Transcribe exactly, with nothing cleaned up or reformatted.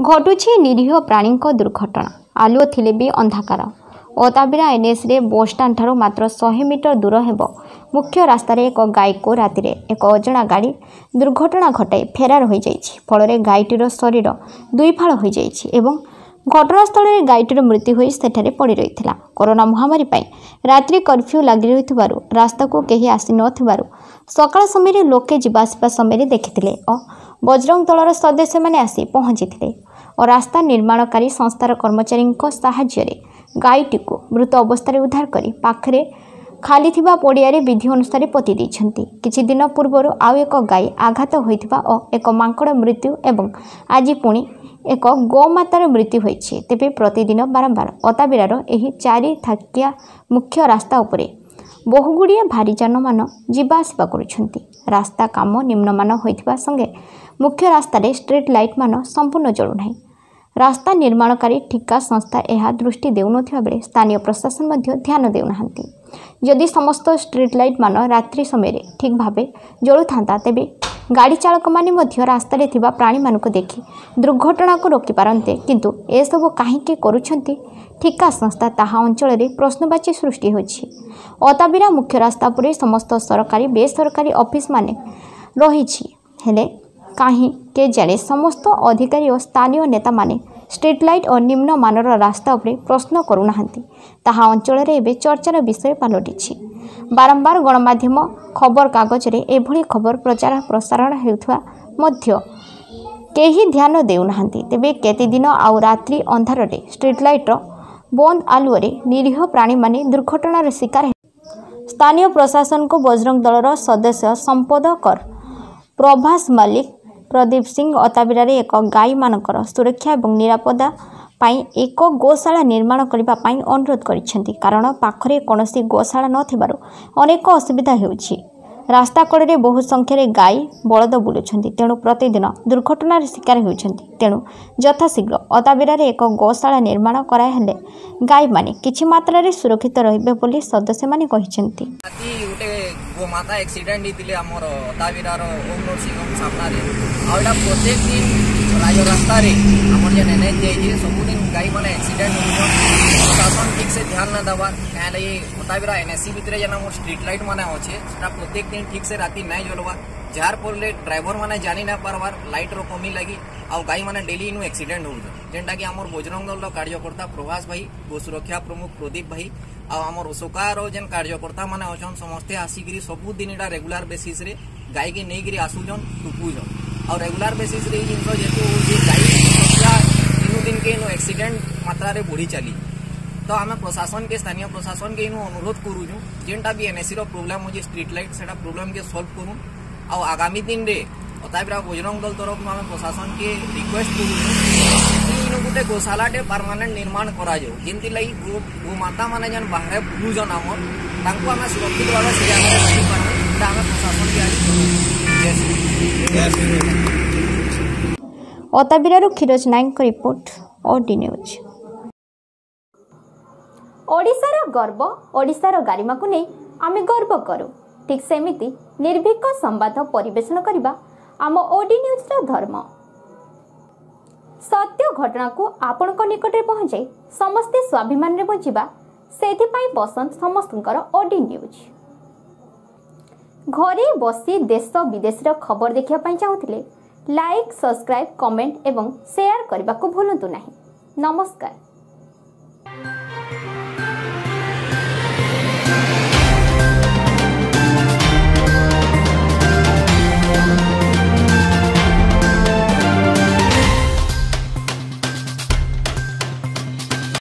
ଘଟୁଛି ନିରୀହ ପ୍ରାଣୀଙ୍କ ଦୁର୍ଘଟଣା। ଆଲୁଅ ଥିଲେ ବି ଅନ୍ଧାକାର। ଅତାବିରା ଏନ୍ଏସ୍ରେ ବସ୍ଷ୍ଟାଣ୍ଡଠାରୁ ମାତ୍ର ଶହେ ମିଟର ଦୂର ହେବ ମୁଖ୍ୟ ରାସ୍ତାରେ ଏକ ଗାଈକୁ ରାତିରେ ଏକ ଅଜଣା ଗାଡ଼ି ଦୁର୍ଘଟଣା ଘଟାଇ ଫେରାର ହୋଇଯାଇଛି। ଫଳରେ ଗାଈଟିର ଶରୀର ଦୁଇଫାଳ ହୋଇଯାଇଛି ଏବଂ ଘଟଣାସ୍ଥଳରେ ଗାଈଟିର ମୃତ୍ୟୁ ହୋଇ ସେଠାରେ ପଡ଼ି ରହିଥିଲା। କରୋନା ମହାମାରୀ ପାଇଁ ରାତ୍ରି କର୍ଫ୍ୟୁ ଲାଗି ରହିଥିବାରୁ ରାସ୍ତାକୁ କେହି ଆସିନଥିବାରୁ ସକାଳ ସମୟରେ ଲୋକେ ଯିବା ଆସିବା ସମୟରେ ଦେଖିଥିଲେ ଓ ବଜରଙ୍ଗ ଦଳର ସଦସ୍ୟମାନେ ଆସି ପହଞ୍ଚିଥିଲେ ଓ ରାସ୍ତା ନିର୍ମାଣକାରୀ ସଂସ୍ଥାର କର୍ମଚାରୀଙ୍କ ସାହାଯ୍ୟରେ ଗାଈଟିକୁ ମୃତ ଅବସ୍ଥାରେ ଉଦ୍ଧାର କରି ପାଖରେ ଖାଲି ଥିବା ପଡ଼ିଆରେ ବିଧି ଅନୁସାରେ ପୋତି ଦେଇଛନ୍ତି। କିଛି ଦିନ ପୂର୍ବରୁ ଆଉ ଏକ ଗାଈ ଆଘାତ ହୋଇଥିବା ଓ ଏକ ମାଙ୍କଡ଼ ମୃତ୍ୟୁ ଏବଂ ଆଜି ପୁଣି ଏକ ଗୋମାତାର ମୃତ୍ୟୁ ହୋଇଛି। ତେବେ ପ୍ରତିଦିନ ବାରମ୍ବାର ଅତାବିରାର ଏହି ଚାରି ଥାକିଆ ମୁଖ୍ୟ ରାସ୍ତା ଉପରେ ବହୁଗୁଡ଼ିଏ ଭାରିଯାନମାନ ଯିବା ଆସିବା କରୁଛନ୍ତି। ରାସ୍ତା କାମ ନିମ୍ନମାନ ହୋଇଥିବା ସଙ୍ଗେ ମୁଖ୍ୟ ରାସ୍ତାରେ ଷ୍ଟ୍ରିଟ୍ ଲାଇଟ୍ମାନ ସମ୍ପୂର୍ଣ୍ଣ ଜଳୁନାହିଁ। ରାସ୍ତା ନିର୍ମାଣକାରୀ ଠିକା ସଂସ୍ଥା ଏହା ଦୃଷ୍ଟି ଦେଉନଥିବା ବେଳେ ସ୍ଥାନୀୟ ପ୍ରଶାସନ ମଧ୍ୟ ଧ୍ୟାନ ଦେଉନାହାନ୍ତି। ଯଦି ସମସ୍ତ ଷ୍ଟ୍ରିଟ୍ ଲାଇଟ୍ମାନ ରାତ୍ରି ସମୟରେ ଠିକ୍ ଭାବେ ଜଳୁଥାନ୍ତା, ତେବେ ଗାଡ଼ି ଚାଳକମାନେ ମଧ୍ୟ ରାସ୍ତାରେ ଥିବା ପ୍ରାଣୀମାନଙ୍କୁ ଦେଖି ଦୁର୍ଘଟଣାକୁ ରୋକିପାରନ୍ତେ। କିନ୍ତୁ ଏସବୁ କାହିଁକି କରୁଛନ୍ତି ଠିକା ସଂସ୍ଥା, ତାହା ଅଞ୍ଚଳରେ ପ୍ରଶ୍ନବାଚୀ ସୃଷ୍ଟି ହୋଇଛି। ଅତାବିରା ମୁଖ୍ୟ ରାସ୍ତା ଉପରେ ସମସ୍ତ ସରକାରୀ ବେସରକାରୀ ଅଫିସମାନେ ରହିଛି, ହେଲେ କାହିଁ କେଜାଣି ସମସ୍ତ ଅଧିକାରୀ ଓ ସ୍ଥାନୀୟ ନେତାମାନେ ଷ୍ଟ୍ରିଟ୍ ଲାଇଟ୍ ଓ ନିମ୍ନମାନର ରାସ୍ତା ଉପରେ ପ୍ରଶ୍ନ କରୁନାହାନ୍ତି, ତାହା ଅଞ୍ଚଳରେ ଏବେ ଚର୍ଚ୍ଚାର ବିଷୟ ପାଲଟିଛି। ବାରମ୍ବାର ଗଣମାଧ୍ୟମ ଖବରକାଗଜରେ ଏଭଳି ଖବର ପ୍ରଚାର ପ୍ରସାରଣ ହେଉଥିବା ମଧ୍ୟ କେହି ଧ୍ୟାନ ଦେଉନାହାନ୍ତି। ତେବେ କେତେଦିନ ଆଉ ରାତ୍ରି ଅନ୍ଧାରରେ ଷ୍ଟ୍ରିଟ୍ ଲାଇଟ୍ର ବନ୍ଦ ଆଲୁଅରେ ନିରୀହ ପ୍ରାଣୀମାନେ ଦୁର୍ଘଟଣାର ଶିକାର ହେବେ? ସ୍ଥାନୀୟ ପ୍ରଶାସନକୁ ବଜରଙ୍ଗ ଦଳର ସଦସ୍ୟ ସମ୍ପଦ କର, ପ୍ରଭାସ ମଲ୍ଲିକ, ପ୍ରଦୀପ ସିଂ ଅତାବିରାରେ ଏକ ଗାଈମାନଙ୍କର ସୁରକ୍ଷା ଏବଂ ନିରାପତ୍ତା ପାଇଁ ଏକ ଗୋଶାଳା ନିର୍ମାଣ କରିବା ପାଇଁ ଅନୁରୋଧ କରିଛନ୍ତି। କାରଣ ପାଖରେ କୌଣସି ଗୋଶାଳା ନଥିବାରୁ ଅନେକ ଅସୁବିଧା ହେଉଛି। ରାସ୍ତା କଡ଼ରେ ବହୁ ସଂଖ୍ୟାରେ ଗାଈ ବଳଦ ବୁଲୁଛନ୍ତି, ତେଣୁ ପ୍ରତିଦିନ ଦୁର୍ଘଟଣାର ଶିକାର ହେଉଛନ୍ତି। ତେଣୁ ଯଥାଶୀଘ୍ର ଅତାବିରାରେ ଏକ ଗୋଶାଳା ନିର୍ମାଣ କରାହେଲେ ଗାଈମାନେ କିଛି ମାତ୍ରାରେ ସୁରକ୍ଷିତ ରହିବେ ବୋଲି ସଦସ୍ୟମାନେ କହିଛନ୍ତି। ରାତି ଗୋଟେ ଗୋମାତା ଆକ୍ସିଡେଣ୍ଟ ହେଇଥିଲେ ଆମର ଅତାବିରାର ଓମ୍ ନର୍ସିଂ ହୋମ୍ ସାମ୍ନାରେ। ଆଉ ଏଇଟା ପ୍ରତ୍ୟେକ ଦିନ ରାଜରାସ୍ତାରେ ଆମର ଯେନ୍ ଏନ୍ ଏଚ୍ ଯାଇଛି, ସବୁଦିନ ଗାଈମାନେ ଆକ୍ସିଡେଣ୍ଟ ହଉଛନ୍। ପ୍ରଶାସନ ଠିକ୍ ସେ ଧ୍ୟାନ ନା ଦେବାର୍। କାଁ ଲାଗି ଅତାବିରା ଏନ୍ଏସି ଭିତରେ ଯେନ୍ ଆମର ଷ୍ଟ୍ରିଟ୍ ଲାଇଟ୍ ମାନେ ଅଛେ, ସେଟା ପ୍ରତ୍ୟେକ ଦିନ ଠିକ୍ ସେ ରାତି ନାଇଁ ଜଲବାର୍, ଯାହାର ଫଳରେ ଡ୍ରାଇଭର ମାନେ ଜାନି ନା ପାରବାର୍ ଲାଇଟ୍ର କମି ଲାଗି, ଆଉ ଗାଈ ମାନେ ଡେଲି ଇନୁ ଆକ୍ସିଡେଣ୍ଟ ହଉଛନ୍। ଯେନ୍ଟା କି ଆମର ବଜରଙ୍ଗ ଦଳର କାର୍ଯ୍ୟକର୍ତ୍ତା ପ୍ରଭାସ ଭାଇ, ଗୋ ସୁରକ୍ଷା ପ୍ରମୁଖ ପ୍ରଦୀପ ଭାଇ ଆଉ ଆମର ଅଶୋକାର ଯେନ୍ କାର୍ଯ୍ୟକର୍ତ୍ତା ମାନେ ଅଛନ୍, ସମସ୍ତେ ଆସିକିରି ସବୁଦିନ ଏଇଟା ରେଗୁଲାର ବେସିସ୍ରେ ଗାଈକେ ନେଇକିରି ଆସୁଛନ୍, ଟୁକୁଛନ୍। ଆଉ ରେଗୁଲାର ବେସିସ୍ରେ ଏଇ ଜିନିଷ ଯେହେତୁ ହଉଛି, ଗାଈ ସଂଖ୍ୟା ଦିନୁ ଦିନକେ ଇନୁ ଆକ୍ସିଡେଣ୍ଟ ମାତ୍ରାରେ ବଢି ଚାଲିଛି। ତ ଆମେ ପ୍ରଶାସନକେ, ସ୍ଥାନୀୟ ପ୍ରଶାସନକେ ଇନୁ ଅନୁରୋଧ କରୁଛୁ, ଯେନ୍ଟା ବି ଏନ୍ଏସିର ପ୍ରୋବ୍ଲେମ୍ ହଉଛି ଷ୍ଟ୍ରିଟ୍ ଲାଇଟ୍, ସେଟା ପ୍ରୋବ୍ଲେମ୍କେ ସଲ୍ଭ କରୁନ୍। ଆଉ ଆଗାମୀ ଦିନରେ ଅତାବିରା ବଜରଙ୍ଗ ଦଳ ତରଫରୁ ଆମେ ପ୍ରଶାସନକେ ରିକ୍ୱେଷ୍ଟ କରୁଛୁ କି ଇନୁ ଗୋଟେ ଗୋଶାଲାଟେ ପରମାନେଣ୍ଟ ନିର୍ମାଣ କରାଯାଉ, ଯେମିତି ଲାଗି ଗୋ ଗୋମାତା ମାନେ ଯେନ୍ ବାହାରେ ବୁଲୁଛନ୍ ଆମର, ତାଙ୍କୁ ଆମେ ସୁରକ୍ଷିତ ଭାବେ ସେ ଜାଗାରେ ରଖିପାରମୁ। ଏଇଟା ଆମେ ପ୍ରଶାସନକେ ଆଜି ଜୟ ଶ୍ରୀ। ଅତାବିରାରୁ କ୍ଷୀରୋଜ ନାୟକଙ୍କ ରିପୋର୍ଟ, ଓଡି ନ୍ୟୁଜ୍। ଓଡ଼ିଶାର ଗର୍ବ, ଓଡ଼ିଶାର ଗାରିମାକୁ ନେଇ ଆମେ ଗର୍ବ କରୁ। ଠିକ୍ ସେମିତି ନିର୍ଭୀକ ସମ୍ବାଦ ପରିବେଷଣ କରିବା ଆମ ଓଡି ନ୍ୟୁଜ୍ର ଧର୍ମ। ସତ୍ୟ ଘଟଣାକୁ ଆପଣଙ୍କ ନିକଟରେ ପହଞ୍ଚାଇ ସମସ୍ତେ ସ୍ୱାଭିମାନରେ ବଞ୍ଚିବା, ସେଥିପାଇଁ ପସନ୍ଦ ସମସ୍ତଙ୍କର ଓଡି ନ୍ୟୁଜ୍। ଘରେ ବସି ଦେଶ ବିଦେଶର ଖବର ଦେଖିବା ପାଇଁ ଚାହୁଁଥିଲେ ଲାଇକ୍, ସବସ୍କ୍ରାଇବ୍, କମେଣ୍ଟ ଏବଂ ସେୟାର କରିବାକୁ ଭୁଲନ୍ତୁ ନାହିଁ। ନମସ୍କାର।